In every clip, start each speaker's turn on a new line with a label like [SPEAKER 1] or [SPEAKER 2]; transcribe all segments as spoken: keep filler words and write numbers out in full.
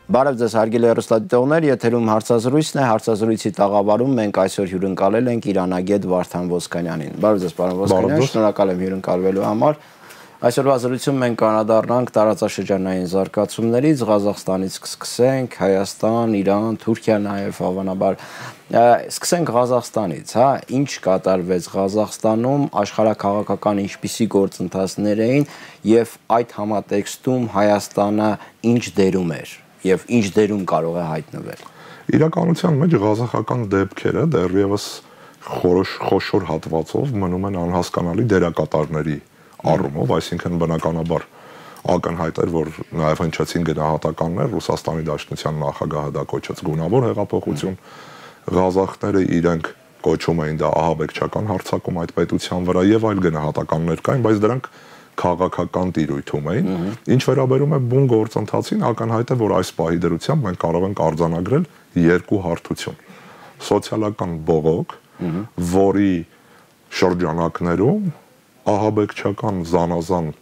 [SPEAKER 1] Բարև ձեզ հարգելի հեռուստադիտողներ, եթերում հարցազրույցն է, հարցազրույցի տաղավարում մենք այսօր հյուրընկալել ենք իրանագետ Վարդան Ոսկանյանին։ Բարև ձեզ, պարոն Ոսկանյան, շնորհակալ եմ հյուրընկալվելու համար։ Այսօրվա զրույցում մենք կանադառնանք տարածաշրջանային զարգացումներից, Ղազախստանից կսկսենք, Հայաստան, Իրան, Թուրքիա նաև հավանաբար։ Սկսենք Ղազախստանից, հա, ինչ կատարվեց Ղազախստանում, աշխարհաքաղաքական ինչպիսի գործընթացներ էին եւ այդ համատեքստում Հայաստանը ինչ դերում էր եւ ինչ դերում կարող է հայտնվել։
[SPEAKER 2] Իրականության մեջ ղազախական դեպքերը դեռևս խոշոր հատվածով մնում են անհասկանալի դերակատարների առումով, այսինքն բնականաբար ակնհայտ էր, որ նաև հնչեցին գնահատականներ, Ռուսաստանի Դաշնության նախագահը դա կոչեց գունավոր հեղափոխություն, ղազախները իրենք կոչում էին դա ահաբեկչական հարձակում այդ պետության վրա եւ այլ գնահատականներ կային, բայց դրանք քաղաքական տիրույթում էին, ինչ վերաբերում է բուն գործընթացին, ակնհայտ է, որ այս պահի դրությամբ մենք կարող ենք արձանագրել երկու հարթություն. սոցիալական բողոք, որի շրջանակներում ահաբեկչական զանազան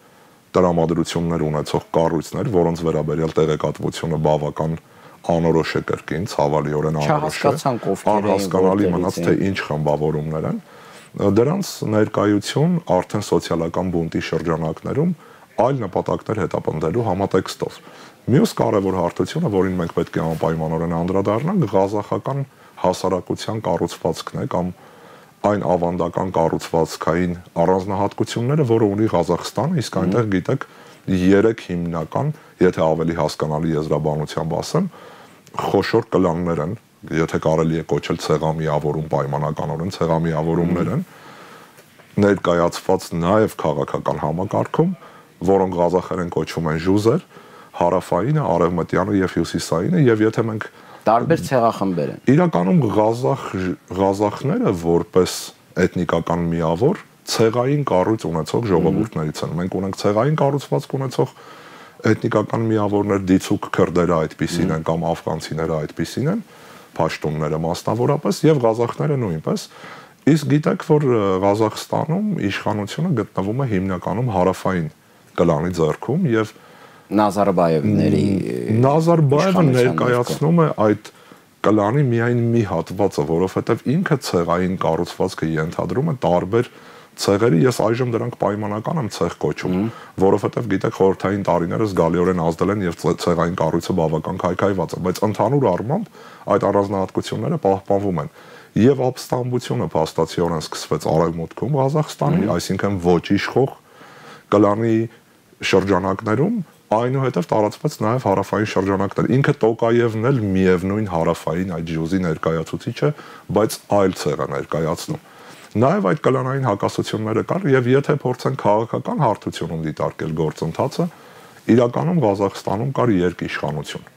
[SPEAKER 2] տրամադրություններ ունեցող կառույցներ, որոնց վերաբերյալ տեղեկատվությունը բավական անորոշ է կրկին, ցավալիորեն անորոշ է, անհասկանալի մնաց, թե ինչ խմբավորումներ են, դրանց ներկայություն արդեն սոցիալական բունտի շրջանակներում այլ նպատակներ հետապնդելու համատեքստով։ Մյուս կարևոր հարթությունը, որին մենք պետք է անպայմանորեն անդրադառնանք, ղազախական հասարակության կառուցվածքն է կամ այն ավանդական կառուցվածքային առանձնահատկությունները, որը ունի Ղազախստանը, իսկ այնտեղ գիտեք երեք հիմնական, եթե ավելի հասկանալի եզրաբանությամբ ասեմ, խոշոր կլաններ են, եթե կարելի է կոչել ցեղամիավորում պայմանականորեն, ցեղամիավորումներ են ներկայացված նաև քաղաքական համակարգում, որոնք ղազախերեն կոչվում են ժուզեր, հարավայինը, արևմտյանը եւ հյուսիսայինը, եւ եթե մենք
[SPEAKER 1] տարբեր ցեղախմբեր են։
[SPEAKER 2] Իրականում ղազախ ղազախները որպես էթնիկական միավոր ցեղային կառույց ունեցող ժողովուրդներից են։ Մենք ունենք ցեղային կառուցվածք ունեցող էթնիկական միավորներ, դիցուկ քրդերը այդպիսին են կամ աֆղանցիները այդպիսին են, փաշտունները մասնավորապես եւ ղազախները նույնպես։ Իսկ գիտեք, որ Ղազախստանում իշխանությունը գտնվում է հիմնականում հարավային կլանի ձեռքում եւ
[SPEAKER 1] Նազարբաևների
[SPEAKER 2] Նազարբաևը ներկայացնում է այդ կլանի միայն մի հատվածը, որովհետեւ ինքը ցեղային կառուցվածքը ենթադրում է տարբեր ցեղերի, ես այժմ դրանք պայմանական եմ ցեղ կոչում, որովհետեւ գիտեք խորհրդային տարիները զգալիորեն ազդել են եւ ցեղային կառույցը բավական քայքայված է, բայց ընդհանուր առմամբ այդ առանձնահատկությունները պահպանվում են։ Եվ ապստամբությունը փաստացիորեն սկսվեց արևմուտքում Ղազախստանի, այսինքն ոչ իշխող կլանի շրջանակներում, այնուհետև տարածվեց նաև հարավային շրջանակներ։ Ինքը Տոկաևն էլ միևնույն հարավային այդ ժուզի ներկայացուցիչ է, բայց այլ ցեղ է ներկայացնում։ Նաև այդ կլանային հակասությունները կար եւ եթե փորձենք քաղաքական հարթությունում դիտարկել գործընթացը, իրականում Ղազախստանում կար երկիշխանություն։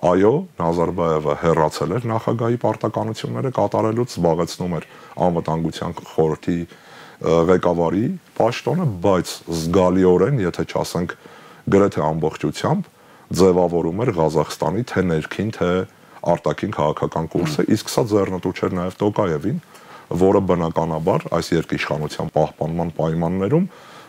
[SPEAKER 2] Այո, Նազարբաևը հեռացել էր նախագահի պարտականությունները կատարելուց, զբաղեցնում էր անվտանգության խորհրդի ղեկավարի պաշտոնը, բայց զգալիորեն, եթե չասենք գրեթե ամբողջությամբ, ձևավորում էր Ղազախստանի թե ներքին, թե արտաքին քաղաքական կուրսը, իսկ սա ձեռնտու չէր նաև Տոկաևին, որը բնականաբար այս երկիշխանության պահպանման պայմաններում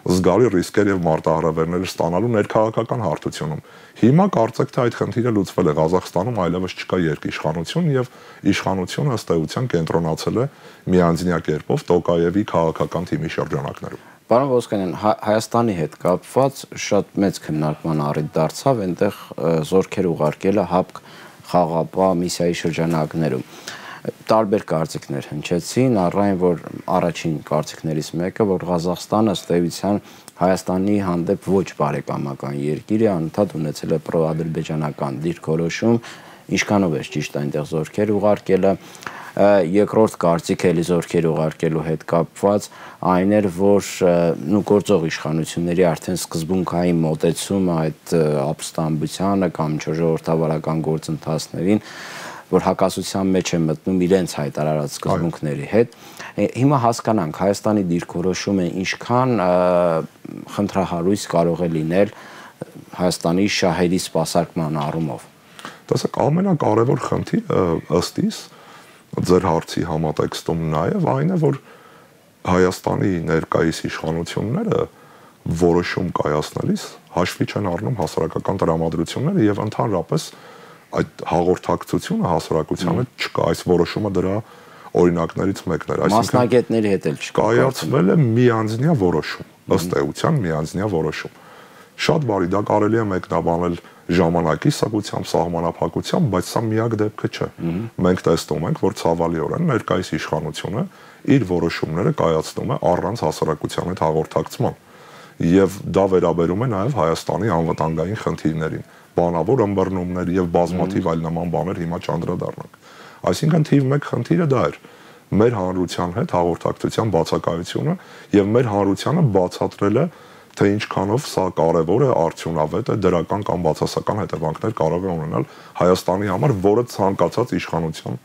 [SPEAKER 2] զգալի ռիսկեր եւ մարտահրավերներ ստանալու ներքաղաքական հարթությունում։ Հիմա կարծեք թե այդ խնդիրը լուծվել է Ղազախստանում, այլևս չկա երկիշխանություն եւ իշխանությունը ըստ էության կենտրոնացել է միանձնյա կերպով Տոկաևի քաղաքական թիմի շրջանակներում։
[SPEAKER 1] Պարոն Ոսկանյան, Հայաստանի հետ կապված շատ մեծ քննարկման առիթ դարձավ այնտեղ զորքեր ուղարկելը ՀԱՊԿ խաղապահ միսիայի շրջանակներում։ Տարբեր կարծիքներ հնչեցին, առայն որ առաջին կարծիքներից մեկը, որ Ղազախստանը ըստ էության Հայաստանի հանդեպ ոչ բարեկամական երկիր է, անընդհատ ունեցել է պրոադրբեջանական դիրքորոշում, ինչքանով է ճիշտ այնտեղ զորքեր ուղարկելը։ Երկրորդ կարծիքը էլի զորքեր ուղարկելու հետ կապված այն էր, որ նու գործող իշխանությունների արդեն սկզբունքային մոտեցումը այդ ապստամբությանը կամ ժողովրդավարական գործընթացներին, որ հակասության մեջ է մտնում իրենց հայտարարած սկզբունքների հետ։ Հիմա հասկանանք Հայաստանի դիրքորոշումը ինչքան խնդրահարույց կարող է լինել Հայաստանի շահերի սպասարկման առումով։
[SPEAKER 2] Տեսեք, ամենակարևոր խնդիրը ըստ իս ձեր հարցի համատեքստում նաև այն է, որ Հայաստանի ներկայիս իշխանությունները որոշում կայացնելիս հաշվի չեն առնում հասարակական տրամադրությունները եւ ընդհանրապես այդ հաղորդակցությունը հասարակության հետ չկա, այս որոշումը դրա օրինակներից մեկն էր,
[SPEAKER 1] մասնագետների հետ էլ չկա,
[SPEAKER 2] կայացվել է միանձնյա որոշում, ըստ էության միանձնյա որոշում։ Շատ բարի, դա կարելի է մեկնաբանել ժամանակի սակությամբ, սահմանափակությամբ, բայց սա միակ դեպքը չէ։ Մենք տեսնում ենք, որ ցավալիորեն ներկայիս իշխանությունը իր որոշումները կայացնում է առանց հասարակության հետ հաղորդակցման։ Եվ դա վերաբերում է նաև Հայաստանի անվտանգային խնդիրներին, բանավոր ըմբռնումներ եւ բազմաթիվ այլ նման բաներ հիմա չանդրադառնանք։ Այսինքն թիվ մեկ խնդիրը դա էր մեր հանրության հետ հաղորդակցության բացակայությունը եւ մեր հանրությանը բացատրելը, թե ինչքանով սա կարևոր է, արդյունավետ է, դրական կամ բացասական հետևանքներ կարող է ունենալ Հայաստանի համար, որը ցանկացած իշխանության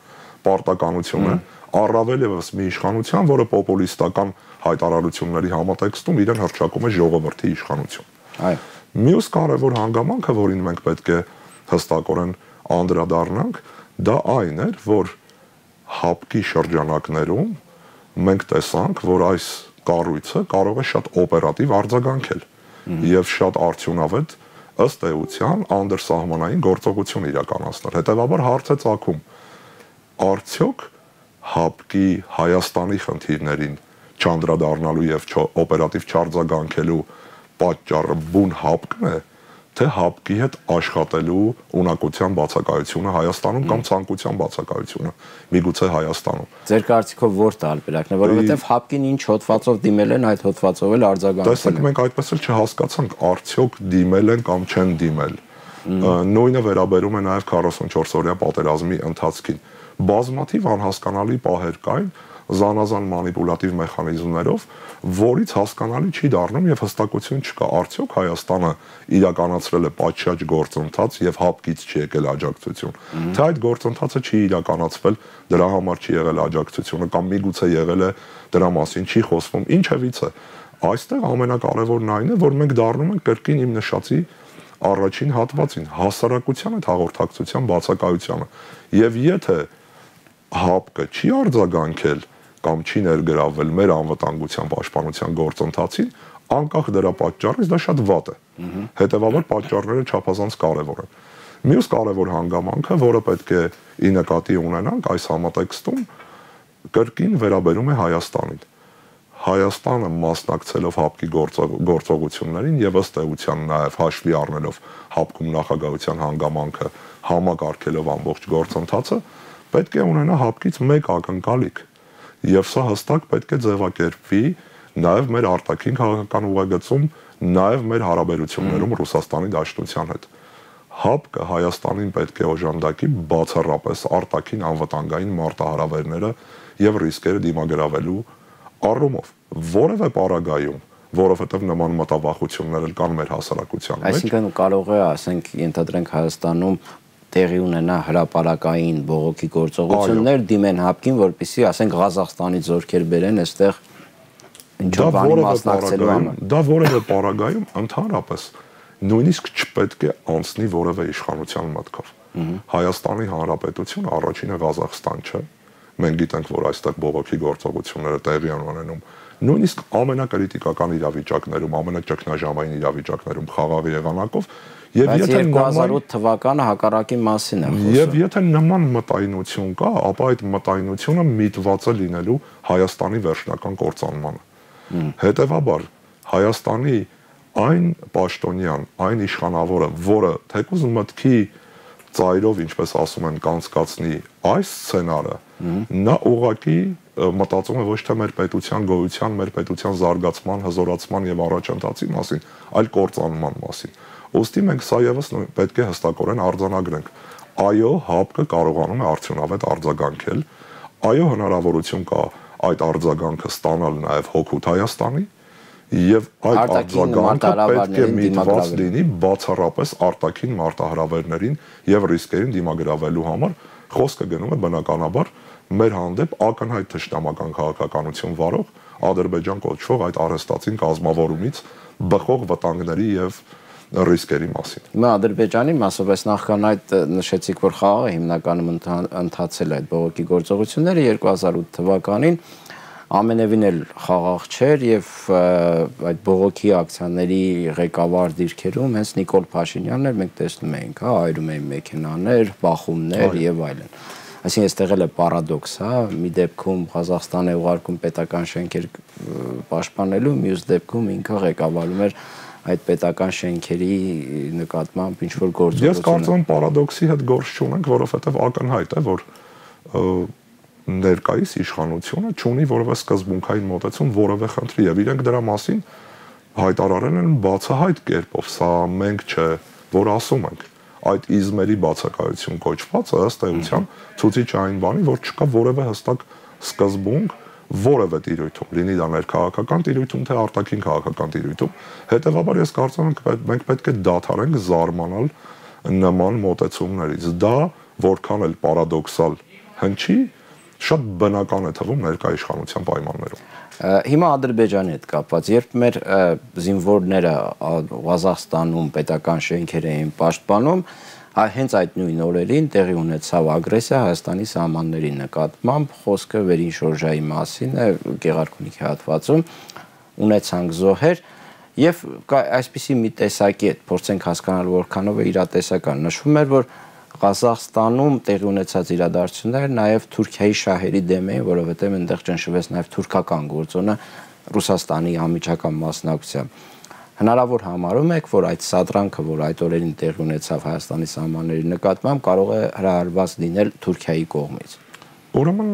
[SPEAKER 2] պարտականություն է, առավել եւս մի իշխանության, որը պոպուլիստական հայտարարությունների համատեքստում իրեն հռչակում է ժողովրդի իշխանություն։
[SPEAKER 1] Այո։
[SPEAKER 2] Մյուս կարևոր հանգամանքը, որին մենք պետք է հստակորեն անդրադառնանք, դա այն էր, որ հապկի շրջանակներում մենք տեսանք, որ այս կառույցը կարող է շատ օպերատիվ արձագանքել եւ շատ արդյունավետ ըստ էության անդրսահմանային գործողություն իրականացնել։ Հետևաբար հարց է ծագում. արդյոք հապկի Հայաստանի խնդիրներին չանդրադառնալու եւ օպերատիվ չարձագանքելու պատճառը բուն հապկն է, թե հապկի հետ աշխատելու ունակության բացակայությունը Հայաստանում կամ ցանկության բացակայությունը միգուցե Հայաստանում։
[SPEAKER 1] Ձեր կարծիքով ո՞ր տարբերակն է, որովհետև հապկին ինչ հոդվածով դիմել են, այդ հոդվածով էլ արձագանքել են։
[SPEAKER 2] Տեսեք, մենք այդպես էլ չհասկացանք, արդյոք դիմել են կամ չեն դիմել։ Նույնը վերաբերում է նաև քառասունչորս օրյա պատերազմի ընթացքին։ Բազմաթիվ անհասկանալի պահեր կային զանազան մանիպուլատիվ մեխանիզմներով, որից հասկանալի չի դառնում եւ հստակություն չկա, արդյոք Հայաստանը իրականացրել է պատշաճ գործընթաց եւ հապկից չի եկել աջակցություն, թե այդ գործընթացը չի իրականացվել, դրա համար չի եղել աջակցությունը կամ միգուցե եղել է, դրա մասին չի խոսվում, ինչևիցե։ Այստեղ ամենակարևորն այն է, որ մենք դառնում ենք կրկին իմ նշածի առաջին հատվածին, հասարակության հետ հաղորդակցության բացակայությանը։ Եվ եթե հապկը չի արձագանքել կամ չի ներգրավվել մեր անվտանգության պաշտպանության գործընթացին, անկախ դրա պատճառից դա շատ վատ է։ Հետևաբար պատճառները չափազանց կարևոր են։ Մյուս կարևոր հանգամանքը, որը պետք է ի նկատի ունենանք այս համատեքստում, կրկին վերաբերում է Հայաստանին։ Հայաստանը մասնակցելով հապկի գործողություններին եւ ըստ էության նաեւ հաշվի առնելով հապկում նախագահության հանգամանքը համակարգելով ամբողջ գործընթացը, պետք է ունենա հապկից մեկ ակնկալիք եւ սա հստակ պետք է ձևակերպվի նաեւ մեր արտաքին քաղաքական ուղղագծում, նաեւ մեր հարաբերություններում Ռուսաստանի Դաշնության հետ։ Հապկը Հայաստանին պետք է օժանդակի բացառապես արտաքին անվտանգային մարտահրավերները եւ ռիսկերը դիմագրավելու առումով, որևէ պարագայում, որովհետեւ նման մտավախություններ էլ կան մեր հասարակության մեջ։
[SPEAKER 1] Այսինքն կարող է, ասենք, ենթադրենք Հայաստանում տեղի ունենա հրապարակային բողոքի գործողություններ դիմեն հապկին, որպեսզի, ասենք, Ղազախստանից զորքեր բերեն, այստեղ ինչ-որ բանի մասնակցելու համար։
[SPEAKER 2] Դա որևէ պարագայում ընդհանրապես նույնիսկ չպետք է անցնի որևէ իշխանության մտքով։ Հայաստանի Հանրապետությունը առաջինը Ղազախստան չէ։ Մենք գիտենք, որ այստեղ բողոքի գործողությունները տեղի են ունենում։ Նույնիսկ ամենակրիտիկական իրավիճակներում, ամենաճգնաժամային իրավիճակներում խաղաղ եղանակով եւ եթե
[SPEAKER 1] երկու հազար ութ թվականը հակառակի մասին է խոսքը։
[SPEAKER 2] Եվ եթե նման մտայնություն կա, ապա այդ մտայնությունը միտված է լինելու Հայաստանի վերջնական կործանմանը։ Հետևաբար Հայաստանի այն պաշտոնյան, այն իշխանավորը, որը թեկուզ մտքի ծայրով, ինչպես ասում են, կանցկացնի այս սցենարը, նա ուղղակի մտածում է ոչ թե մեր պետության գոյության, մեր պետության զարգացման, հզորացման եւ առաջընթացի մասին, այլ կործանման մասին։ Ոստի մենք սա եւս պետք է հստակորեն արձանագրենք։ Այո, հապկը կարողանում է արդյունավետ արձագանքել, այո, հնարավորություն կա այդ արձագանքը ստանալ նաեւ հօգուտ Հայաստանի, եւ այդ արձագանքը պետք է միտված լինի բացառապես արտաքին մարտահրավերներին եւ ռիսկերին դիմագրավելու համար։ Խոսքը գնում է բնականաբար մեր հանդեպ ակնհայտ թշնամական քաղաքականություն վարող Ադրբեջան կոչվող այդ արհեստացին կազմավորումից բխող վտանգների եւ ռիսկերի մասին։
[SPEAKER 1] Հիմա Ադրբեջանի մասով այս նախքան այդ նշեցիք, որ խաղաղը հիմնականում ընթացել այդ բողոքի գործողությունները երկու հազար ութ թվականին ամենևին էլ խաղաղ չէր եւ այդ բողոքի ակցիաների ղեկավար դիրքերում հենց Նիկոլ Փաշինյանն էր, մենք տեսնում էինք, հա, այրում էին մեքենաներ, բախումներ եւ այլն։ Այսինքն այստեղ էլ է պարադոքս, հա, մի դեպքում Ղազախստան է ուղարկում պետական շենքեր պաշտպանելու, մյուս դեպքում ինքը ղեկավարում էր այդ պետական շենքերի նկատմամբ ինչ որ գործողություն։
[SPEAKER 2] Ես կարծում եմ պարադոքսի հետ գործ չունենք, որովհետեւ ակնհայտ է, որ ներկայիս իշխանությունը չունի որևէ սկզբունքային մոտեցում որևէ խնդրի եւ իրենք դրա մասին հայտարարել են բացահայտ կերպով, սա մենք չէ, որ ասում ենք։ Այդ իզմերի բացակայություն կոչվածը ըստ էության ցույց է այն բանի, որ չկա որևէ հստակ սկզբունք որևէ տիրույթում, լինի դա ներքաղաքական տիրույթում, թե արտաքին քաղաքական տիրույթում։ Հետևաբար ես կարծում եմ մենք պետք է դադարենք զարմանալ նման մոտեցումներից։ Դա որքան էլ պարադոքսալ հնչի, շատ բնական է թվում ներկայ իշխանության պայմաններում։
[SPEAKER 1] Հիմա Ադրբեջանի հետ կապված, երբ մեր զինվորները Ղազախստանում պետական շենքեր էին պաշտպանում, հենց այդ նույն օրերին տեղի ունեցավ ագրեսիա Հայաստանի սահմանների նկատմամբ, խոսքը Վերին Շորժայի մասին է, Գեղարքունիքի հատվածում ունեցանք զոհեր եւ այսպիսի մի տեսակետ, փորձենք հասկանալ որքանով է իրատեսական, նշվում էր, որ Ղազախստանում տեղի ունեցած իրադարձությունները նաև Թուրքիայի շահերի դեմ էին, որովհետև այնտեղ ճնշվեց նաև թուրքական գործոնը Ռուսաստանի անմիջական մասնակցությամբ։ Հնարավոր համարում եք, որ այդ սադրանքը, որ այդ օրերին տեղի ունեցավ Հայաստանի սահմանների նկատմամբ, կարող է հրահրված լինել Թուրքիայի կողմից։
[SPEAKER 2] Ուրեմն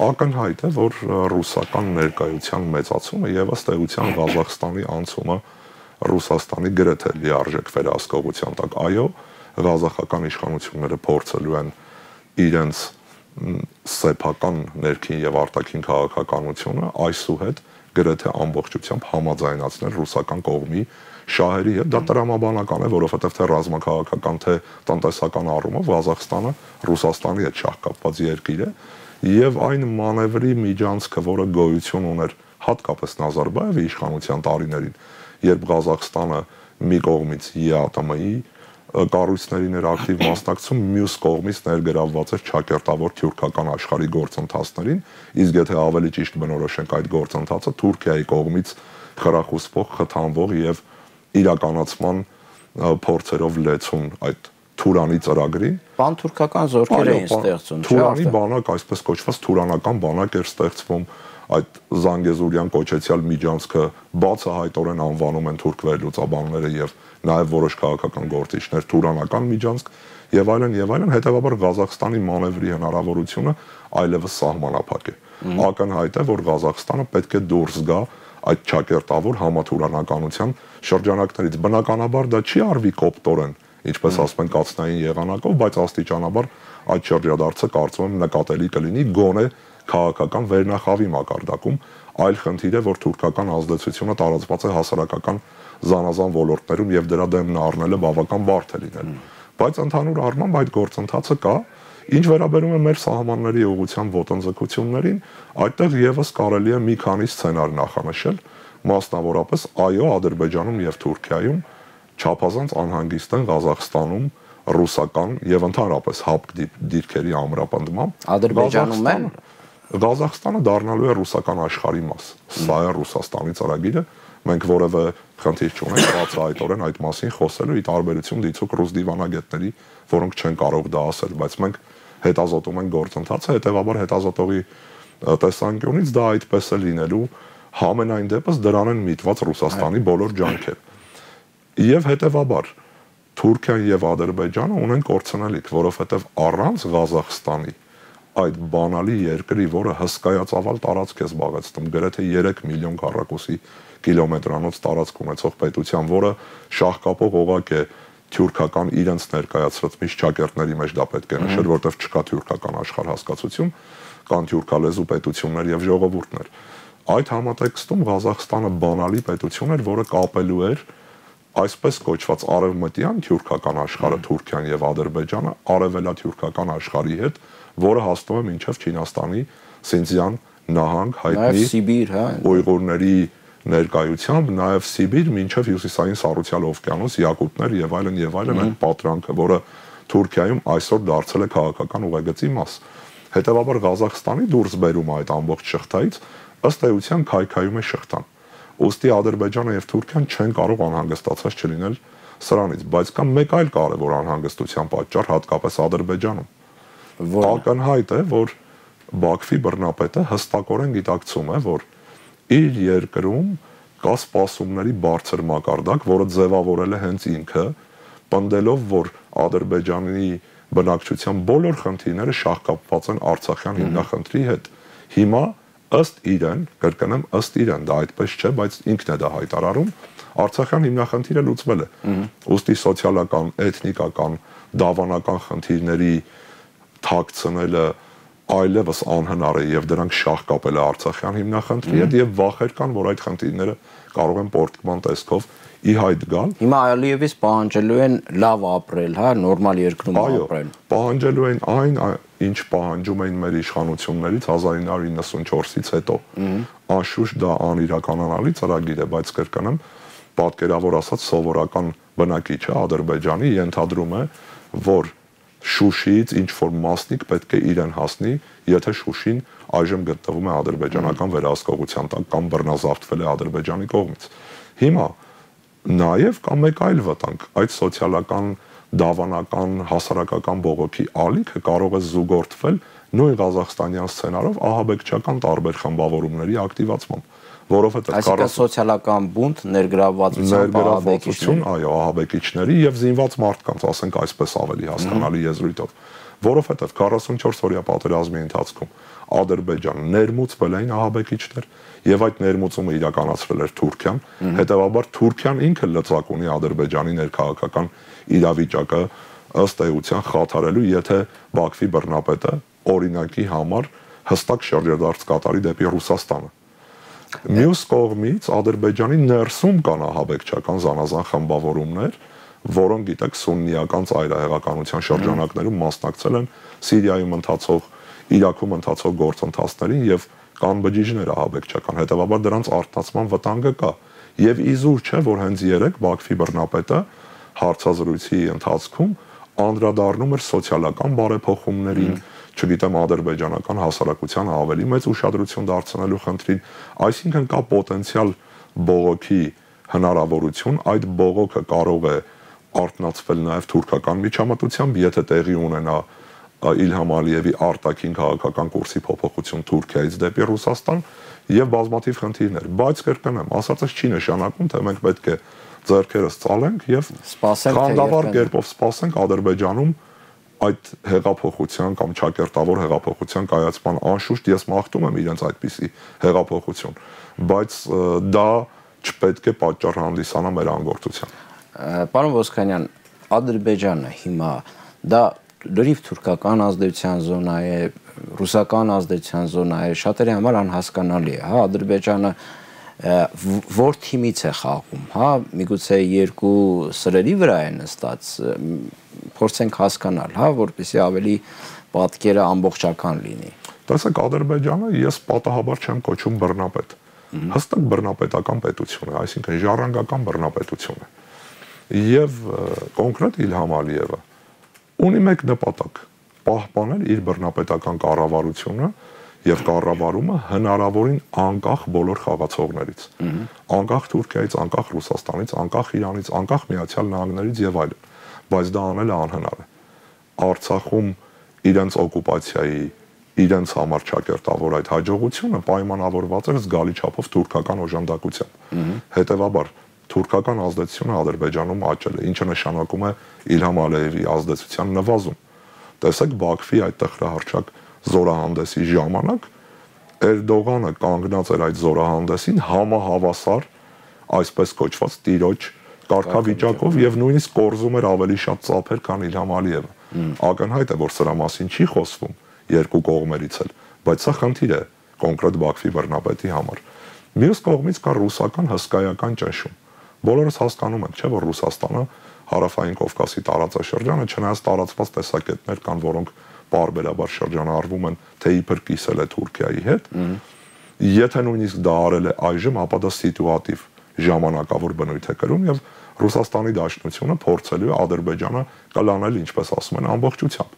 [SPEAKER 2] ակնհայտ է, որ ռուսական ներկայության մեծացումը եւ ըստ էության Ղազախստանի անցումը Ռուսաստանի գրեթե լիարժեք վերահսկողության տակ, այո, Ղազախական իշխանությունները փորձելու են իրենց սեփական ներքին եւ արտաքին քաղաքականությունը այսուհետ գրեթե ամբողջությամբ համաձայնացնել ռուսական կողմի շահերի հետ։ Դա տրամաբանական է, որովհետեւ թե ռազմաքաղաքական, թե տնտեսական առումով Ղազախստանը Ռուսաստանի հետ շահկապված երկիր է եւ այն մանևրի միջանցքը, որը գոյություն ուներ հատկապես Նազարբաևի իշխանության տարիներին, երբ Ղազախստանը մի կողմից ԵԱՏՄ-ի կառույցներին էր ակտիվ մասնակցում, մյուս կողմից ներգրավված էր ճակերտավոր թուրքական աշխարհի գործընթացներին, իսկ եթե ավելի ճիշտ բնորոշենք այդ գործընթացը Թուրքիայի կողմից խրախուսվող, խթանվող եւ իրականացման փորձերով լեցուն այդ Թուրանի ծրագրին,
[SPEAKER 1] պանթուրքական զորքեր էին ստեղծում, չէ՞։
[SPEAKER 2] Թուրանի բանակ, այսպես կոչված թուրանական բանակ էր ստեղծվում, այդ Զանգեզուրյան կոչեցյալ միջանցքը բացահայտորեն անվանում են թուրք վերլուծաբանները եւ նաև որոշ քաղաքական գործիչներ թուրանական միջանցք եւ այլն եւ այլն, հետեւաբար Ղազախստանի մանևրի հնարավորությունը այլևս սահմանափակ է։ Ակնհայտ է, որ Ղազախստանը պետք է դուրս գա այդ ճակերտավոր համաթուրանականության շրջանակներից։ Բնականաբար դա չի արվի կոպտորեն, ինչպես ասում են կացնային եղանակով, բայց աստիճանաբար այդ շրջադարձը կարծում եմ նկատելի կլինի գոնե քաղաքական վերնախավի մակարդակում, այլ խնդիր է, որ թուրքական ազդեցությունը տարածված է հասարակական զանազան ոլորտներում եւ դրա դեմն առնելը բավական բարդ է լինել։ Բայց ընդհանուր առմամբ այդ գործընթացը կա, ինչ վերաբերում է մեր սահմանների ուղղությամբ ոտնձգություններին, այդտեղ եւս կարելի է մի քանի սցենար նախանշել, մասնավորապես այո, Ադրբեջանում եւ Թուրքիայում չափազանց անհանգիստ են Ղազախստանում ռուսական եւ ընդհանրապես հապկ դիրքերի ամրապնդմամբ։
[SPEAKER 1] Ադրբեջանում են
[SPEAKER 2] Ղազախստանը դառնալու է ռուսական աշխարհի մաս։ Սա է Ռուսաստանի ծրագիրը։ Մենք որևէ խնդիր չունենք բացահայտորեն այդ մասին խոսելու, ի տարբերություն դիցուկ ռուս դիվանագետների, որոնք չեն կարող դա ասել, բայց մենք հետազոտում ենք գործընթացը, հետեւաբար հետազոտողի տեսանկյունից դա այդպես է լինելու, համենայն դեպս դրան են միտված Ռուսաստանի բոլոր ջանքերը։ Եվ հետեւաբար Թուրքիան եւ Ադրբեջանը ունեն կորցնելիք, որովհետեւ առանց Ղազախստանի այդ բանալի երկրի, որը հսկայածավալ տարածք է զբաղեցնում, գրեթե երեք միլիոն քառակուսի կիլոմետրանոց տարածք ունեցող պետության, որը շահկապող օղակ է թյուրքական իրենց ներկայացրած միշտ ճակերտների մեջ դա պետք է նշել, որտեղ չկա թյուրքական աշխարհ հասկացություն, կան թյուրքալեզու պետություններ եւ ժողովուրդներ։ Այդ համատեքստում Ղազախստանը բանալի պետություն էր, որը կապելու էր այսպես կոչված արևմտյան թյուրքական աշխարհը Թուրքիան եւ Ադրբեջանը արևելաթյուրքական աշխարհի հետ, որը հասնում է մինչև Չինաստանի Սինձյան նահանգ հայտնի
[SPEAKER 1] Սիբիր, հա,
[SPEAKER 2] ուйղուրների ներկայությամբ, նաև Սիբիր մինչև հյուսիսային Սառուցյալ օվկիանոս, Յակուտներ եւ այլն եւ այլն այդ պատրանքը, որը Թուրքիայում այսօր դարձել է քաղաքական ուղեգծի մաս։ Հետևաբար Ղազախստանի դուրս բերումը այդ ամբողջ շղթայից ըստ էության քայքայում է շղթան։ Ուստի Ադրբեջանը եւ Թուրքիան չեն կարող անհանգստացած չլինել սրանից, բայց կա մեկ այլ կարևոր անհանգստության պատճառ հատկապես Ադրբեջանում։ Ակնհայտ է, որ Բաքվի բռնապետը հստակորեն գիտակցում է, որ իր երկրում կա սպասումների բարձր մակարդակ, որը ձևավորել է հենց ինքը, պնդելով, որ Ադրբեջանի բնակչության բոլոր խնդիրները շահկապված են Արցախյան հիմնախնդրի հետ։ Հիմա ըստ իրեն, կրկնեմ, ըստ իրեն, դա այդպես չէ, բայց ինքն է դա հայտարարում, Արցախյան հիմնախնդիրը լուծվել է։ Ուստի սոցիալական, էթնիկական, դավանական խնդիրների թաքցնելը այլևս անհնար է եւ դրանք շահկապել է Արցախյան հիմնախնդրի հետ եւ վախեր կան, որ այդ խնդիրները կարող են պորտկման տեսքով ի հայտ գալ։
[SPEAKER 1] Հիմա Ալիևից պահանջելու են լավ ապրել, հա, նորմալ երկրում ապրել։
[SPEAKER 2] Այո, պահանջելու են այն, ինչ պահանջում էին մեր իշխանություններից հազար ինը հարյուր իննսունչորսից հետո։ Անշուշտ դա անիրականանալի ծրագիր է, բայց կրկնեմ, պատկերավոր ասած սովորական բնակիչը Ադրբեջանի ենթադրում է, որ Շուշիից ինչ որ մասնիկ պետք է իրեն հասնի, եթե Շուշին այժմ գտնվում է ադրբեջանական վերահսկողության տակ կամ բռնազավթվել է Ադրբեջանի կողմից։ Հիմա նաև կա մեկ այլ վտանգ, այդ սոցիալական, դավանական, հասարակական բողոքի ալիքը կարող է զուգորդվել նույն ղազախստանյան սցենարով ահաբեկչական տարբեր խմբավորումների ակտիվացմամբ, որովհետև
[SPEAKER 1] այսինքն սոցիալական բունտ, ներգրավվածություն,
[SPEAKER 2] ահաբեկիչություն, այո, ահաբեկիչների եւ զինված մարդկանց, ասենք այսպես ավելի հասկանալի եզրույթով, որովհետև քառասունչորս օրյա պատերազմի ընթացքում Ադրբեջանը ներմուծվել էին ահաբեկիչներ եւ այդ ներմուծումը իրականացրել էր Թուրքիան, հետեւաբար Թուրքիան ինքը լծակ ունի Ադրբեջանի ներքաղաքական իրավիճակը ըստ էության խաթարելու, եթե Բաքվի բռնապետը օրինակի համար հստակ շրջադարձ կատարի դեպի Ռուսաստանը։ Մյուս կողմից Ադրբեջանի ներսում կան ահաբեկչական զանազան խմբավորումներ, որոնք գիտեք սուննիական ծայրահեղականության շրջանակներում մասնակցել են Սիրիայում ընթացող, Իրաքում ընթացող գործընթացներին եւ կան բջիջներ ահաբեկչական, հետեւաբար դրանց արթնացման վտանգը կա։ Եվ իզուր չէ, որ հենց երեք Բաքվի բռնապետը հարցազրույցի ընթացքում անդրադառնում էր սոցիալական բարեփոխումներին, չգիտեմ, ադրբեջանական հասարակության ավելի մեծ ուշադրություն դարձնելու խնդրին, այսինքն կա պոտենցիալ բողոքի հնարավորություն, այդ բողոքը կարող է արթնացվել նաև թուրքական միջամտությամբ, եթե տեղի ունենա Իլհամ Ալիևի արտաքին քաղաքական կուրսի փոփոխություն Թուրքիայից դեպի Ռուսաստան եւ բազմաթիվ խնդիրներ, բայց կրկնեմ, ասածս չի նշանակում, թե մենք պետք է ձեռքերս ծալենք եւ խանդավառ կերպով սպասենք Ադրբեջանում այդ հեղափոխության կամ ճակերտավոր հեղափոխության կայացման, անշուշտ ես մաղթում եմ իրենց այդպիսի հեղափոխություն, բայց դա չպետք է պատճառ հանդիսանա մեր անգործության։
[SPEAKER 1] Պարոն Ոսկանյան, Ադրբեջանը հիմա դա լրիվ թուրքական ազդեցության զոնա է, ռուսական ազդեցության զոնա է, շատերի համար անհասկանալի է, հա, Ադրբեջանը որ թիմից է խաղում, հա, միգուցե երկու սրերի վրա է նստած, փորձենք հասկանալ, հա, որպեսզի ավելի պատկերը ամբողջական լինի։
[SPEAKER 2] Տեսեք, Ադրբեջանը ես պատահաբար չեմ կոչում բռնապետ, հստակ բռնապետական պետություն է, այսինքն ժառանգական բռնապետություն է։ Եվ կոնկրետ Իլհամ Ալիևը ունի մեկ նպատակ՝ պահպանել իր բռնապետական կառավարությունը եւ կառավարումը հնարավորին անկախ բոլոր խաղացողներից, անկախ Թուրքիայից, անկախ Ռուսաստանից, անկախ Իրանից, անկախ Միացյալ Նահանգներից եւ այլն, բայց դա անելը անհնար է։ Արցախում իրենց օկուպացիայի, իրենց համար ճակերտավոր այդ հաջողությունը պայմանավորված էր զգալի չափով թուրքական օժանդակությամբ։ Հետևաբար թուրքական ազդեցությունը Ադրբեջանում աճել է, ինչը նշանակում է Իլհամ Ալիևի ազդեցության նվազում։ Տեսեք, Բաքվի այդ տխրահարճակ զորահանդեսի ժամանակ Էրդողանը կանգնած էր այդ զորահանդեսին համահավասար, այսպես կոչված տիրոջ կարգավիճակով եւ նույնիսկ կորզում էր ավելի շատ ծափեր, քան Իլհամ Ալիևը։ Ակնհայտ է, որ սրա մասին չի խոսվում երկու կողմերից էլ, բայց սա խնդիր է կոնկրետ Բաքվի բռնապետի համար։ Մյուս կողմից կա ռուսական հսկայական ճնշում։ Բոլորս հասկանում ենք, չէ՞, որ Ռուսաստանը հարավային Կովկասի տարածաշրջանը, չնայած տարածված տեսակետներ կան, որոնք պարբերաբար շրջանառվում են, թե իբր կիսել է Թուրքիայի հետ, եթե նույնիսկ դա արել է այժմ, ապա դա սիտուատիվ ժամանակավոր բնույթ է կրում եւ Ռուսաստանի Դաշնությունը փորձելու է Ադրբեջանը կլանել, ինչպես ասում են, ամբողջությամբ։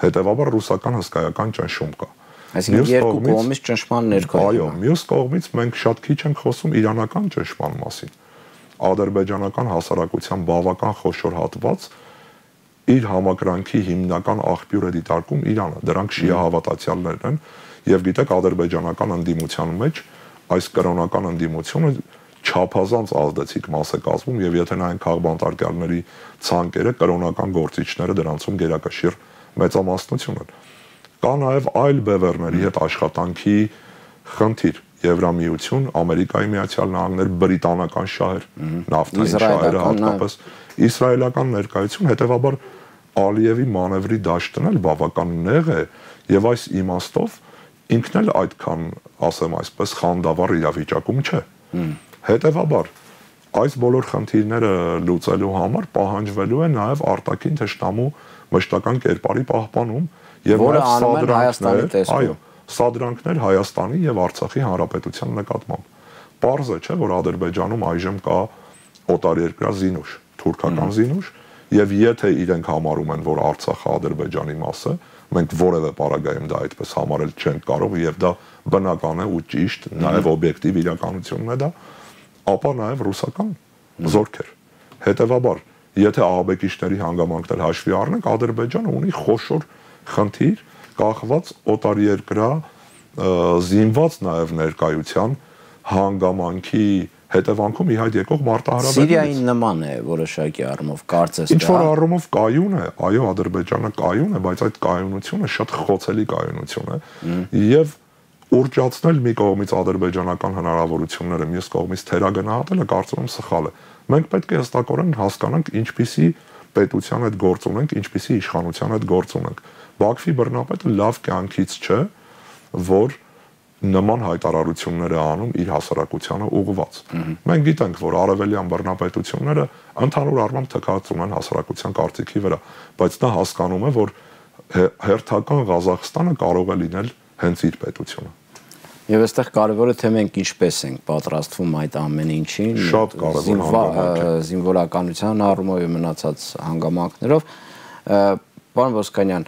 [SPEAKER 2] Հետևաբար ռուսական հսկայական ճնշում կա։
[SPEAKER 1] Այսինքն երկու կողմից ճնշման ներքո։
[SPEAKER 2] Այո, մյուս կողմից մենք շատ քիչ ենք խոսում իրանական ճնշման մասին։ Ադրբեջանական հասարակության բավական խոշոր հատված իր համակրանքի հիմնական աղբյուր է դիտարկում Իրանը։ Դրանք շիա հավատացյալներն են եւ գիտեք ադրբեջանական ընդդիմության մեջ այս կրոնական ընդդիմությունը չափազանց ազդեցիկ մաս է կազմում եւ եթե նայենք քաղբանտարկյալների ցանկերը կրոնական գործիչները դրանցում գերակշիռ մեծամասնություն են։ Կա նաեւ այլ բևեռների հետ աշխատանքի խնդիր։ Եվրամիություն, Ամերիկայի Միացյալ Նահանգներ, բրիտանական շահեր, նավթային շահերը հատկապես իսրայելական ներկայություն, հետեւաբար Ալիևի մանևրի դաշտն էլ բավական նեղ է եւ այս իմաստով ինքն էլ այդքան, ասեմ այսպես, խանդավառ իրավիճակում չէ։ Հետևաբար այս բոլոր խնդիրները լուծելու համար պահանջվելու է նաեւ արտաքին թշնամու մշտական կերպարի պահպանում եւ
[SPEAKER 1] սադրանքներ,
[SPEAKER 2] այո, սադրանքներ Հայաստանի եւ Արցախի հանրապետության նկատմամբ։ Պարզ է, չէ, որ Ադրբեջանում այժմ կա օտարերկրյա զինուշ, թուրքական զինուշ, եւ եթե իրենք համարում են, որ Արցախը Ադրբեջանի մաս է, մենք որևէ պարագայում դա այդպես համարել չենք կարող եւ դա բնական է ու ճիշտ, նաեւ օբյեկտիվ իրականությունն է դա, ապա նաեւ ռուսական զորքեր։ Հետևաբար, եթե ահաբեկիչների հանգամանքներ հաշվի առնենք, Ադրբեջանը ունի խոշոր խնդիր կախված օտարերկրյա զինված նաեւ ներկայության հանգամանքի հետևանքում ի հայտ եկող մարտահրավերներից։
[SPEAKER 1] Սիրիային նման է որոշակի առումով կարծես դա։
[SPEAKER 2] Ինչ որ առումով կայուն է, այո, Ադրբեջանը կայուն է, բայց այդ կայունությունը շատ խոցելի կայունություն է եւ ուռճացնել մի կողմից ադրբեջանական հնարավորությունները, մյուս կողմից թերագնահատելը կարծում եմ սխալ է։ Մենք պետք է հստակորեն հասկանանք ինչպիսի պետության հետ գործ ունենք, ինչպիսի իշխանության հետ գործ ունենք։ Բաքվի բռնապետը լավ կյանքից չէ, որ նման հայտարարություններ է անում իր հասարակությանը ուղղված։ Մենք գիտենք, որ արևելյան բռնապետությունները ընդհանուր առմամբ թքած ունեն հասարակության կարծիքի վրա, բայց նա հասկանում է, որ հերթական Ղազախստանը կարող է լինել հենց իր պետությունը։
[SPEAKER 1] Եվ այստեղ կարևորը թե մենք ինչպես ենք պատրաստվում այդ ամեն ինչին,
[SPEAKER 2] շատ կարևոր հանգամանք է
[SPEAKER 1] զինվորականության առումով եւ մնացած հանգամանքներով։ Պարոն Ոսկանյան,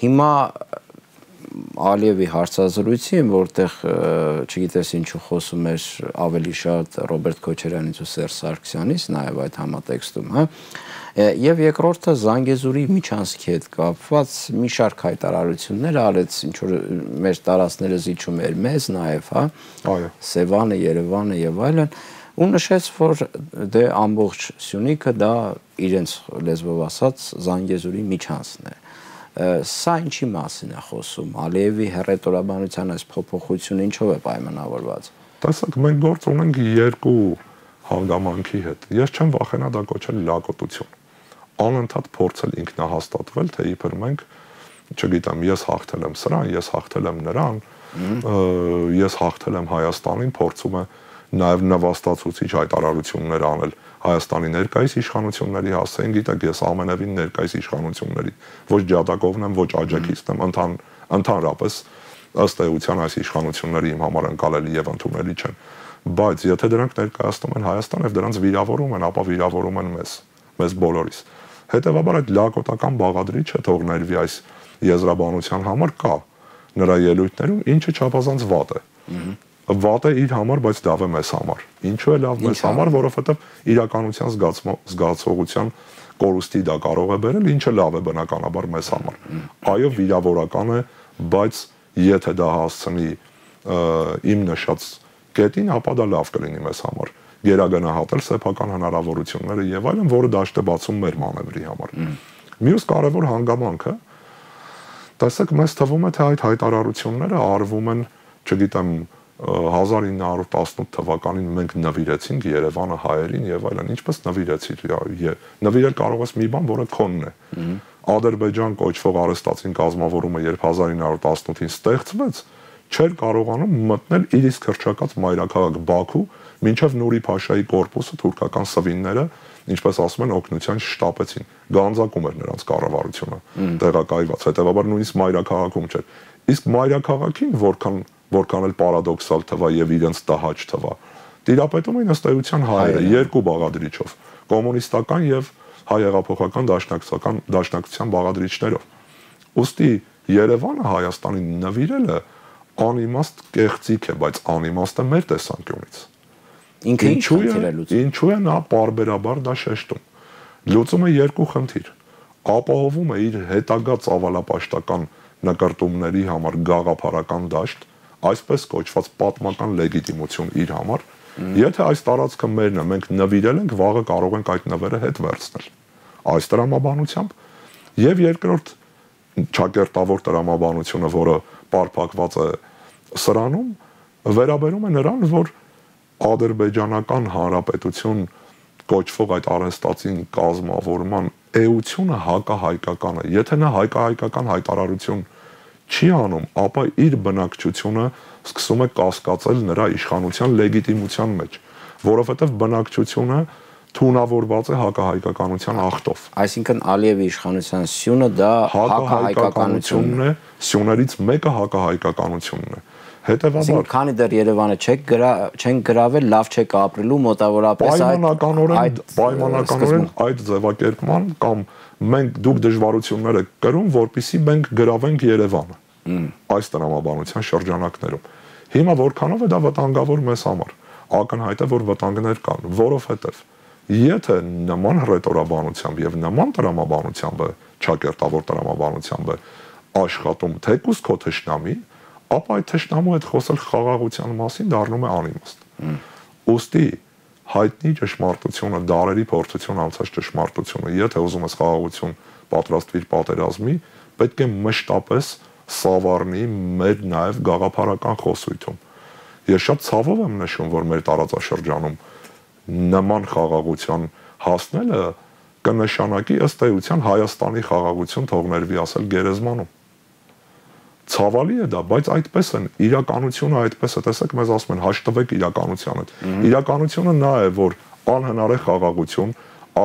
[SPEAKER 1] հիմա Ալիևի հարցազրույցին, որտեղ չգիտես ինչու խոսում էր ավելի շատ Ռոբերտ Քոչարյանից ու Սերժ Սարգսյանից, նաեւ այդ համատեքստում, հա, եւ երկրորդը Զանգեզուրի միջանցքի հետ կապված մի շարք հայտարարություններ արեց, ինչ որ մեր տարածքները զիջում էր մեզ նաեւ, հա,
[SPEAKER 2] այո,
[SPEAKER 1] Սևանը, Երևանը եւ այլն, ու նշեց, որ դե ամբողջ Սյունիքը դա իրենց լեզվով ասած Զանգեզուրի միջանցքն է։ Սա ինչի մասին է խոսում, Ալիևի հռետորաբանության այս փոփոխությունը ինչով է պայմանավորված։
[SPEAKER 2] Տեսեք, մենք գործ ունենք երկու հանգամանքի հետ։ Ես չեմ վախենա դա կոչել լակոտություն։ Անընդհատ փորձել ինքնահաստատվել, թե իբր մենք, չգիտեմ, ես հաղթել եմ սրան, ես հաղթել եմ նրան, ես հաղթել եմ Հայաստանին, փորձում է նաև նվաստացուցիչ հայտարարություններ անել Հայաստանի ներկայիս իշխանությունների հասցեին, գիտեք, ես ամենևին ներկայիս իշխանությունների ոչ ջատագովն եմ, ոչ աջակիցն եմ, ընթան ընդհանրապես ըստ էության այս իշխանությունները իմ համար ընկալելի եւ ընդունելի չեն, բայց եթե դրանք ներկայացնում են Հայաստան եւ դրանց վիրավորում են, ապա վիրավորում են մեզ, մեզ բոլորիս։ Հետևաբար այդ լակոտական բաղադրիչը թող ներվի այս եզրաբանության համար կա նրա ելույթներում, ինչը չափազանց վատ է։ Վատ է իր համար, բայց լավ է մեզ համար։ Ինչու է լավ մեզ համար, որովհետև իրականության զգացողության կորուստի դա կարող է բերել, ինչը լավ է բնականաբար մեզ համար։ Այո, վիրավորական է, բայց եթե դա հասցնի իմ նշած կետին, ապա դա լավ կլինի մեզ համար։ Գերագնահատել սեփական հնարավորությունները եւ այլն, որը դաշտ է բացում մեր մանևրի համար։ Մյուս կարևոր հանգամանքը, տեսեք, մեզ թվում է, թե այդ հայտարարությունները արվում են, չգիտեմ, հազար ինը հարյուր տասնութ թվականին մենք նվիրեցինք Երևանը հայերին եւ այլն, ինչպես նվիրեցիր, նվիրել կարող ես մի բան, որը քոնն է։ Ադրբեջան կոչվող արհեստացին կազմավորումը, երբ հազար ինը հարյուր տասնութին ստեղծվեց, չէր կարողանում մտնել իր իսկ հռչակած մայրաքաղաք Բաքու, մինչև Նուրի Փաշայի կորպուսը թուրքական սվինները, ինչպես ասում են, օգնության շտապեցին։ Գանձակում էր նրանց կառավարությունը, տեղակայված, հետեւաբար նույնիսկ մայրաքաղաքում չէր։ Իսկ մայրաքաղաքին որքան որքան էլ պարադոքսալ թվա եւ իրենց տհաճ թվա, տիրապետում էին ըստ էության հայերը երկու բաղադրիչով, կոմունիստական եւ հայ հեղափոխական դաշնակցական դաշնակցության բաղադրիչներով։ Ոստի Երևանը Հայաստանին նվիրելը անիմաստ կեղծիք է, բայց անիմաստը մեր տեսանկյունից։
[SPEAKER 1] Ինքը ինչ խնդիր է լուծում։
[SPEAKER 2] Ինչու է նա պարբերաբար դա շեշտում։ Լուծում է երկու խնդիր։ Ապահովում է իր հետագա ծավալապաշտական նկարտումների համար գաղափարական դաշտ, այսպես կոչված պատմական լեգիտիմություն իր համար, եթե այս տարածքը մերն է, մենք նվիրել ենք, վաղը կարող ենք այդ նվերը հետ վերցնել։ Այս տրամաբանությամբ եւ երկրորդ ճակերտավոր տրամաբանությունը, որը պարփակված է սրանում, վերաբերում է նրան, որ Ադրբեջանական Հանրապետություն կոչվող այդ արհեստացին կազմավորման էությունը հակահայկական է։ Եթե նա հայկահայկական հայտարարություն չի անում, ապա իր բնակչությունը սկսում է կասկածել նրա իշխանության լեգիտիմության մեջ, որովհետև բնակչությունը թունավորված է հակահայկականության ախտով։
[SPEAKER 1] Այսինքն Ալիևի իշխանության սյունը դա
[SPEAKER 2] հակահայկականությունն է, սյուներից մեկը հակահայկականությունն է։ Հետևաբար,
[SPEAKER 1] քանի դեռ Երևանը չեք գրա, չեն գրավել, լավ չեք ապրելու, մոտավորապես
[SPEAKER 2] այդ պայմանականորեն այդ ձևակերպման կամ մենք դուք դժվարություններ եք կրում, որպեսզի մենք գրավենք Երևանը այս տրամաբանության շրջանակներում։ Հիմա որքանով է դա վտանգավոր մեզ համար։ Ակնհայտ է, որ վտանգներ կան, որովհետև եթե նման ռետորաբանությամբ եւ նման տրամաբանությամբ է, ճակերտավոր տրամաբանությամբ է աշխատում թեկուզ քո թշնամին, ապա այդ թշնամու հետ խոսել խաղաղության մասին դառնում է անիմաստ։ Ոստի հայտնի ճշմարտությունը, դարերի փորձություն անցած ճշմարտությունը, եթե ուզում ես խաղաղություն պատրաստվիր պատերազմի, պետք է մշտապես սավառնի մեր նաև գաղափարական խոսույթում։ Ես շատ ցավով եմ նշում, որ մեր տարածաշրջանում նման խաղաղության հասնելը կնշանակի ըստ էության Հայաստանի խաղաղություն թողներվի ասել գերեզմանում։ Ցավալի է դա, բայց այդպես են, իրականությունը այդպես է, տեսեք, մեզ ասում են հաշտվեք իրականության հետ։ Իրականությունը նա է, որ անհնար է խաղաղություն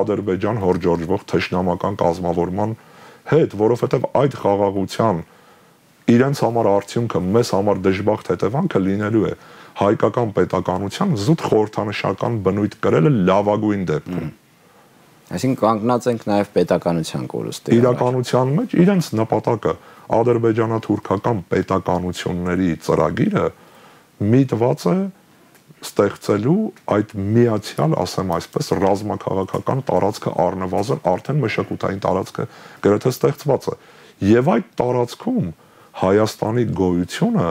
[SPEAKER 2] Ադրբեջան հորջորժվող թշնամական կազմավորման հետ, որովհետև այդ խաղաղության իրենց համար արդյունքը, մեզ համար դժբախտ հետևանքը լինելու է հայկական պետականության զուտ խորհրդանշական բնույթ կրելը լավագույն դեպքում։
[SPEAKER 1] Այսինքն կանգնած ենք նաև պետականության կորստի։
[SPEAKER 2] Իրականության մեջ իրենց նպատակը ադրբեջանա-թուրքական պետականությունների ծրագիրը միտված է ստեղծելու այդ միացյալ, ասեմ այսպես, ռազմաքաղաքական տարածքը առնվազն արդեն մշակութային տարածքը գրեթե ստեղծված է։ Եվ այդ տարածքում Հայաստանի գոյությունը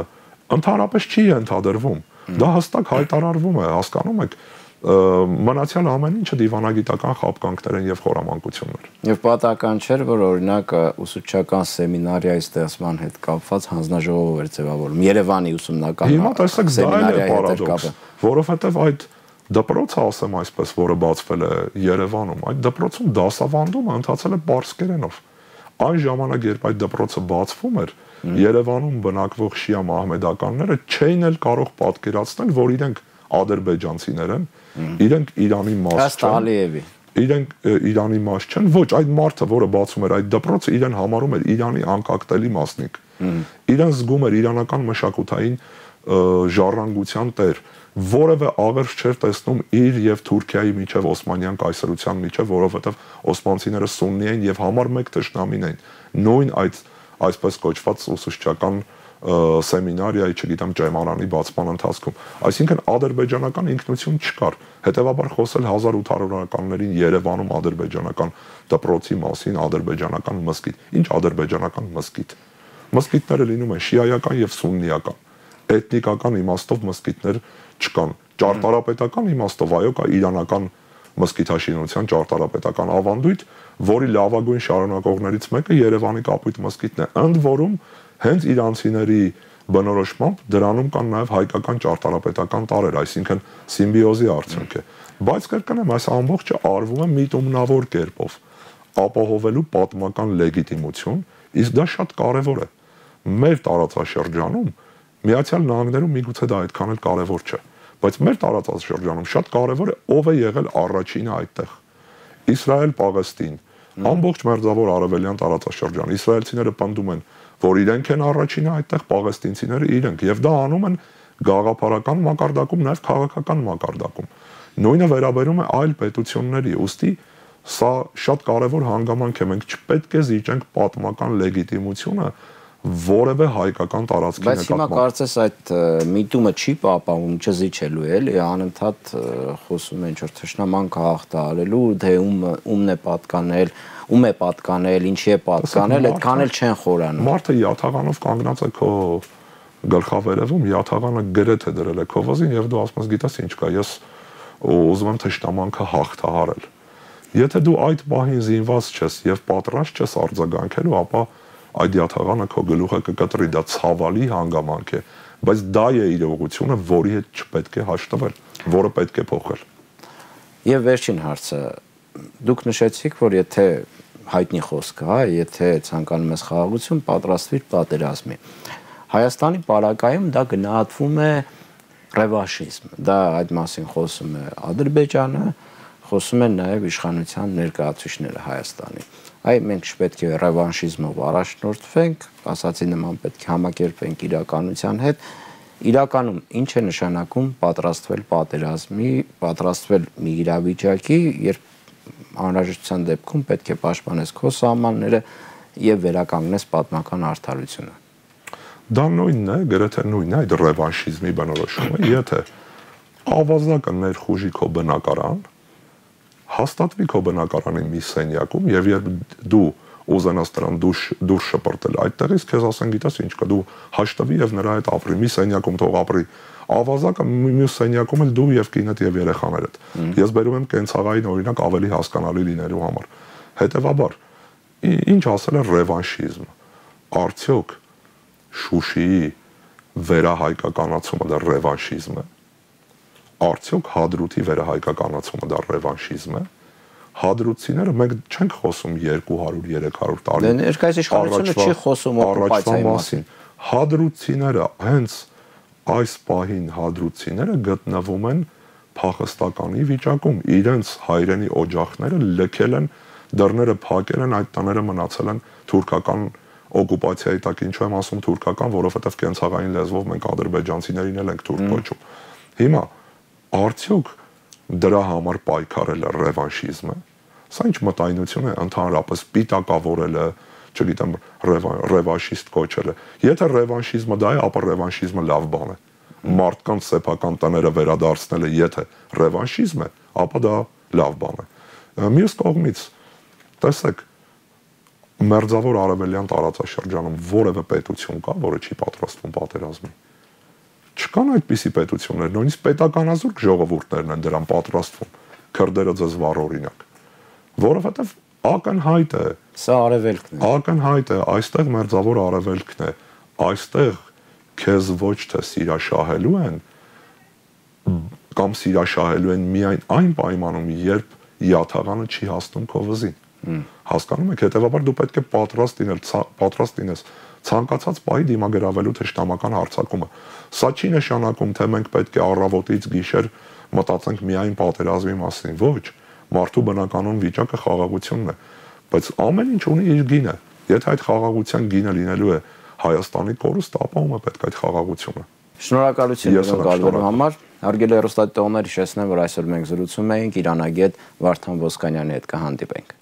[SPEAKER 2] ընդհանրապես չի ենթադրվում։ Դա հստակ հայտարարվում է, հասկանում եք, մնացյալ ամեն ինչը դիվանագիտական խապկանքներ են եւ խորամանկություններ։
[SPEAKER 1] Եվ պատահական չէր, որ օրինակ ուսուցչական սեմինարիայի ստեղծման հետ կապված հանձնաժողով էր ձևավորում Երևանի ուսումնական
[SPEAKER 2] հիմա տեսեք սեմինարիայի հետ կապը, որովհետեւ այդ դպրոցը, ասեմ այսպես, որը բացվել է Երևանում, այդ դպրոցում դասավանդումը ընթացել է պարսկերենով։ Այն ժամանակ, երբ այդ դպրոցը բացվում էր, Երևանում բնակվող շիա մահմեդականները չէին էլ կարող պատկերացնել, որ իրենք ադրբեջանցիներ են, իրենք Իրանի մաս չեն։ Իրենք Իրանի մաս չեն, ոչ, այդ մարդը, որը բացում էր այդ դպրոցը, իրեն համարում էր Իրանի անկախտելի մասնիկ։ Իրեն զգում էր իրանական մշակութային ժառանգության տեր, որևէ աղերս չէր տեսնում իր եւ Թուրքիայի միջև Օսմանյան կայսրության միջև, որովհետեւ օսմանցիները սուննի են եւ համար մեկ թշնամին են։ Նույն այդ այսպես կոչված ուսուցչական սեմինարիայի, չգիտեմ, ճայմանանի բացման ընթացքում։ Այսինքն ադրբեջանական ինքնություն չկար։ Հետևաբար խոսել հազար ութ հարյուրականներին Երևանում ադրբեջանական դպրոցի մասին, ադրբեջանական մզկիթ։ Ինչ ադրբեջանական մզկիթ։ Մզկիթները լինում են շիայական եւ սուննիական։ Էթնիկական իմաստով մզկիթներ չկան։ Ճարտարապետական իմաստով այո, կա իրանական մզկիթաշինության ճարտարապետական ավանդույթ, որի լավագույն շարունակողներից մեկը Երևանի Կապույտ մզկիթն է։ Ընդ որում հենց իրանցիների բնորոշմամբ դրանում կան նաև հայկական ճարտարապետական տարրեր, այսինքն սիմբիոզի արդյունք է։ Բայց կրկնեմ, այս ամբողջը արվում է միտումնավոր կերպով, ապահովելու պատմական լեգիտիմություն, իսկ դա շատ կարևոր է։ Մեր տարածաշրջանում Միացյալ Նահանգներում միգուցե դա այդքան էլ կարևոր չէ, բայց մեր տարածաշրջանում շատ կարևոր է ով է եղել առաջինը այդտեղ։ Իսրայել-Պաղեստին, ամբողջ մերձավոր արևելյան տարածաշրջան, իսրայելցիները պնդում են, որ իրենք են առաջինը այդտեղ, պաղեստինցիները իրենք, եւ դա անում են գաղափարական մակարդակում, նաեւ քաղաքական մակարդակում։ Նույնը վերաբերում է այլ պետությունների, ուստի սա շատ կարևոր հանգամանք է, մենք չպետք է զիջենք պատմական լեգիտիմությունը որևէ հայկական տարածքի
[SPEAKER 1] նկատմամբ։ Բայց հիմա կարծես այդ միտումը չի պահպանվում, չզիջելու էլի, անընդհատ խոսում են ինչ-որ թշնամանքը հաղթահարելու, թե ում ումն է պատկանել, ում է պատկանել, ինչի է պատկանել, այդքան էլ չեն խորանում։
[SPEAKER 2] Մարդը յաթաղանով կանգնած է քո գլխավերևում, յաթաղանը գրեթե դրել է քո վզին եւ դու ասում ես գիտես ինչ կա, ես ուզում եմ թշնամանքը հաղթահարել։ Եթե դու այդ բահին զինված չես եւ պատրաստ չես արձագանքելու, ապա այդ յաթաղանը քո գլուխը կկտրի, դա ցավալի հանգամանք է, բայց դա է իրողությունը, որի հետ չպետք է հաշտվել, որը պետք է փոխել։
[SPEAKER 1] Եվ վերջին հարցը, դուք նշեցիք, որ եթե հայտնի խոսքը, հա, եթե ցանկանում ես խաղաղություն, պատրաստվիր պատերազմի։ Հայաստանի պարագայում դա գնահատվում է ռևանշիզմ, դա այդ մասին խոսում է Ադրբեջանը, խոսում են նաև իշխանության ներկայացուցիչները Հայաստանի։ Այ մենք չպետք է ռևանշիզմով առաջնորդվենք, ասացի նման պետք է համակերպենք իրականության հետ։ Իրականում ինչ է նշանակում պատրաստվել պատերազմի, պատրաստվել մի իրավիճակի, երբ անհրաժեշտության դեպքում պետք է պաշտպանես քո սահմանները եւ վերականգնես պատմական արդարությունը։
[SPEAKER 2] Դա նույնն է, գրեթե նույնն է այդ ռևանշիզմի բնորոշումը, եթե ավազակը ներխուժի քո բնակարան, հաստատվի քո բնակարանի մի սենյակում եւ երբ դու ուզենաս դրան դուրս շպրտել այդտեղից, քեզ ասեն գիտես ինչ կա, դու հաշտվի եւ նրա հետ ապրի, մի սենյակում թող ապրի, ավազակը մյուս սենյակում էլ դու եւ կինդ եւ երեխաներդ։ Ես բերում եմ կենցաղային օրինակ ավելի հասկանալի լինելու համար։ Հետեւաբար, ինչ ասել է ռևանշիզմ, արդյոք Շուշիի վերահայկականացումը դա ռևանշիզմ է։ Արդյոք Հադրութի վերահայկականացումը դա ռևանշիզմ է։ Հադրութցիները մենք չենք խոսում երկու հարյուր երեք հարյուր տարի։
[SPEAKER 1] Դե ներկայիս իշխանությունը չի խոսում օկուպացիայի մասին։
[SPEAKER 2] Հադրութցիները հենց այս պահին հադրութցիները գտնվում են փախստականի վիճակում, իրենց հայրենի օջախները լքել են, դռները փակել են, այդ տները մնացել են թուրքական օկուպացիայի տակ, ինչու եմ ասում թուրքական, որովհետև կենցաղային լեզվով մենք ադրբեջանցիներին էլ ենք թուրք կոչում։ Հիմա արդյոք դրա համար պայքարելը ռևանշիզմ է։ Սա ինչ մտայնություն է ընդհանրապես պիտակավորելը, չգիտեմ, ռևանշիստ կոչելը։ Եթե ռևանշիզմը դա է, ապա ռևանշիզմը լավ բան է։ Մարդկանց սեփական տները վերադարձնելը, եթե ռևանշիզմ է, ապա դա լավ բան է։ Մյուս կողմից, տեսեք, Մերձավոր արևելյան տարածաշրջանում որևէ պետություն կա, որը չի պատրաստվում պատերազմի։ Չկան այդպիսի պետություններ, նույնիսկ պետականազուրկ ժողովուրդներն են դրան պատրաստվում։ Քրդերը ձեզ վառ օրինակ։ Որովհետև ակնհայտ է,
[SPEAKER 1] սա արևելքն է։
[SPEAKER 2] Ակնհայտ է, այստեղ Մերձավոր արևելքն է, այստեղ քեզ ոչ թե սիրաշահելու են, կամ սիրաշահելու են միայն այն պայմանում, երբ յաթաղանը չի հասնում քո վզին։ Հասկանում եք, հետեւաբար դու պետք է պատրաստ լինել, պատրաստ լինես ցանկացած պահի դիմագրավելու թշնամական հարձակումը։ Սա չի նշանակում, թե մենք պետք է առավոտից գիշեր մտածենք միայն պատերազմի մասին, ոչ, մարդու բնականon վիճակը խաղաղությունն է, բայց ամեն ինչ ունի իր գինը։ Եթե այդ խաղաղության գինը լինելու է Հայաստանի կորուստը, ապա ում է պետք այդ խաղաղությունը։
[SPEAKER 1] Շնորհակալություն գալու համար։ Հարգելի հեռուստադիտողներ, հիշեցնեմ, որ այսօր մենք զրուցում էինք իրանագետ Վարդան Ոսկանյանի հետ, կհանդիպենք։